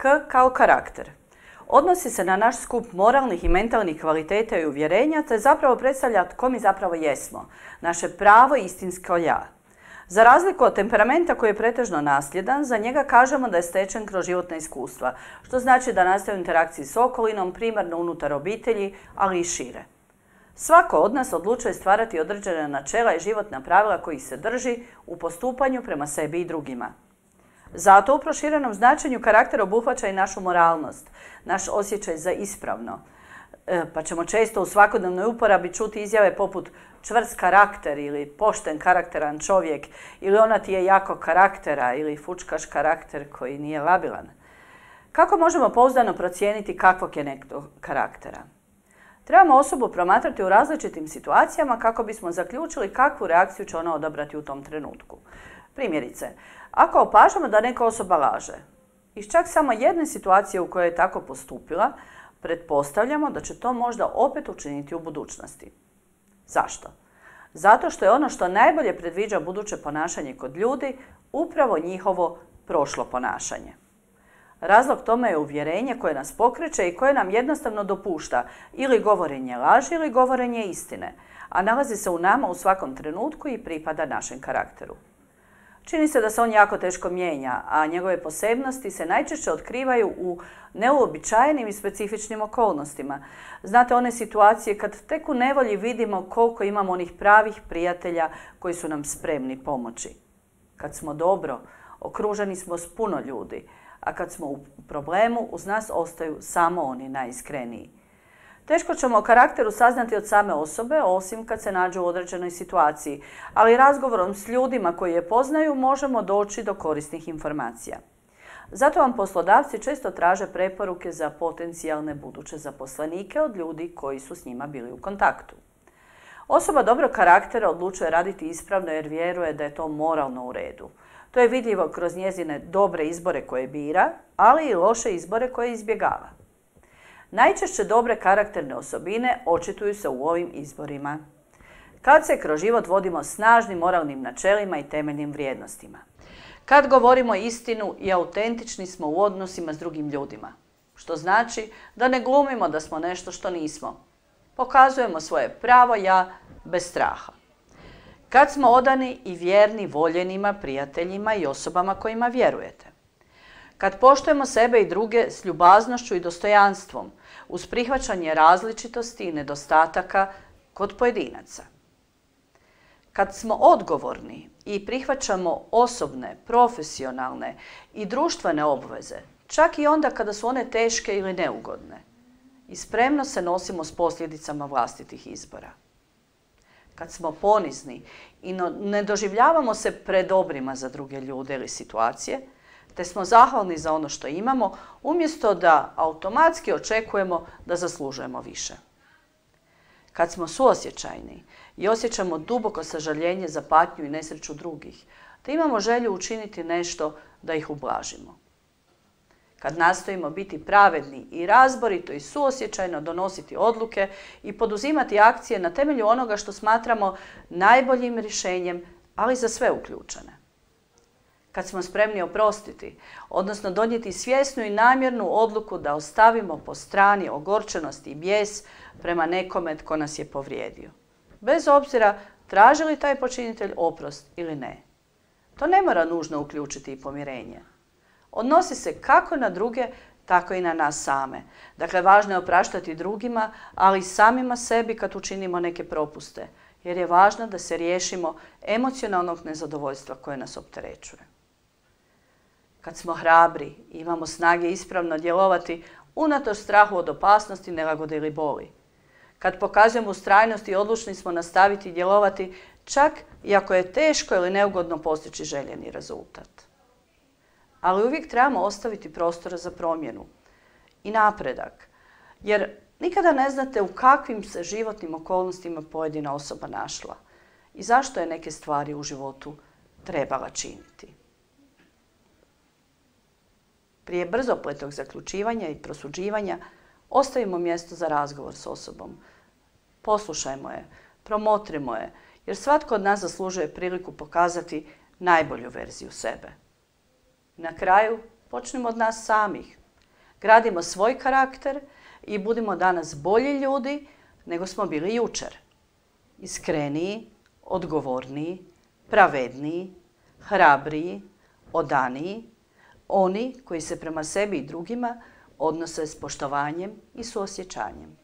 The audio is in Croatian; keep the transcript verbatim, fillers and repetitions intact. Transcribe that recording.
K kao karakter. Odnosi se na naš skup moralnih i mentalnih kvaliteta i uvjerenja, te zapravo predstavlja tko mi zapravo jesmo, naše pravo i istinsko ja. Za razliku od temperamenta koji je pretežno nasljedan, za njega kažemo da je stečen kroz životna iskustva, što znači da nastaje u interakciji s okolinom, primarno unutar obitelji, ali i šire. Svako od nas odlučuje stvarati određena načela i životna pravila kojih se drži u postupanju prema sebi i drugima. Zato u proširenom značenju karakter obuhvaća i našu moralnost, naš osjećaj za ispravno. E, pa ćemo često u svakodnevnoj uporabi čuti izjave poput čvrst karakter ili pošten karakteran čovjek ili ona ti je jako karaktera ili fučkaš karakter koji nije labilan. Kako možemo pouzdano procijeniti kakvog je nekog karaktera? Trebamo osobu promatrati u različitim situacijama kako bismo zaključili kakvu reakciju će ona odabrati u tom trenutku. Primjerice, ako opažamo da neka osoba laže, iz čak samo jedne situacije u kojoj je tako postupila, pretpostavljamo da će to možda opet učiniti u budućnosti. Zašto? Zato što je ono što najbolje predviđa buduće ponašanje kod ljudi upravo njihovo prošlo ponašanje. Razlog tome je uvjerenje koje nas pokreće i koje nam jednostavno dopušta ili govorenje laži ili govorenje istine, a nalazi se u nama u svakom trenutku i pripada našem karakteru. Čini se da se on jako teško mijenja, a njegove posebnosti se najčešće otkrivaju u neuobičajenim i specifičnim okolnostima. Znate, one situacije kad tek u nevolji vidimo koliko imamo onih pravih prijatelja koji su nam spremni pomoći. Kad smo dobro, okruženi smo s puno ljudi, a kad smo u problemu, uz nas ostaju samo oni najiskreniji. Teško ćemo o karakteru saznati od same osobe, osim kad se nađu u određenoj situaciji, ali razgovorom s ljudima koji je poznaju možemo doći do korisnih informacija. Zato vam poslodavci često traže preporuke za potencijalne buduće zaposlenike od ljudi koji su s njima bili u kontaktu. Osoba dobrog karaktera odlučuje raditi ispravno jer vjeruje da je to moralno u redu. To je vidljivo kroz njezine dobre izbore koje bira, ali i loše izbore koje izbjegava. Najčešće dobre karakterne osobine očituju se u ovim izborima. Kad se kroz život vodimo snažnim moralnim načelima i temeljnim vrijednostima. Kad govorimo istinu i autentični smo u odnosima s drugim ljudima. Što znači da ne glumimo da smo nešto što nismo. Pokazujemo svoje pravo ja bez straha. Kad smo odani i vjerni voljenima, prijateljima i osobama kojima vjerujete. Kad poštujemo sebe i druge s ljubaznošću i dostojanstvom, uz prihvaćanje različitosti i nedostataka kod pojedinaca. Kad smo odgovorni i prihvaćamo osobne, profesionalne i društvene obveze, čak i onda kada su one teške ili neugodne, i spremno se nosimo s posljedicama vlastitih izbora. Kad smo ponizni i ne doživljavamo se predobrima za druge ljude ili situacije, te smo zahvalni za ono što imamo, umjesto da automatski očekujemo da zaslužujemo više. Kad smo suosjećajni i osjećamo duboko sažaljenje za patnju i nesreću drugih, te imamo želju učiniti nešto da ih ublažimo. Kad nastojimo biti pravedni i razborito i suosjećajno donositi odluke i poduzimati akcije na temelju onoga što smatramo najboljim rješenjem, ali za sve uključene. Kad smo spremni oprostiti, odnosno donijeti svjesnu i namjernu odluku da ostavimo po strani ogorčenost i bijes prema nekome tko nas je povrijedio. Bez obzira traži li taj počinitelj oprost ili ne. To ne mora nužno uključiti i pomirenje. Odnosi se kako na druge, tako i na nas same. Dakle, važno je opraštati drugima, ali i samima sebi kad učinimo neke propuste, jer je važno da se riješimo emocionalnog nezadovoljstva koje nas opterećuje. Kad smo hrabri, imamo snage ispravno djelovati unatoč strahu od opasnosti, nelagode ili boli. Kad pokazujemo ustrajnost i odlučni smo nastaviti djelovati, čak i ako je teško ili neugodno postići željeni rezultat. Ali uvijek trebamo ostaviti prostora za promjenu i napredak, jer nikada ne znate u kakvim se životnim okolnostima pojedina osoba našla i zašto je neke stvari u životu trebala činiti. Prije brzopletog zaključivanja i prosuđivanja ostavimo mjesto za razgovor s osobom. Poslušajmo je, promotrimo je, jer svatko od nas zaslužuje priliku pokazati najbolju verziju sebe. Na kraju počnimo od nas samih. Gradimo svoj karakter i budimo danas bolji ljudi nego smo bili jučer. Iskreniji, odgovorniji, pravedniji, hrabriji, odaniji, oni koji se prema sebi i drugima odnose s poštovanjem i suosjećanjem.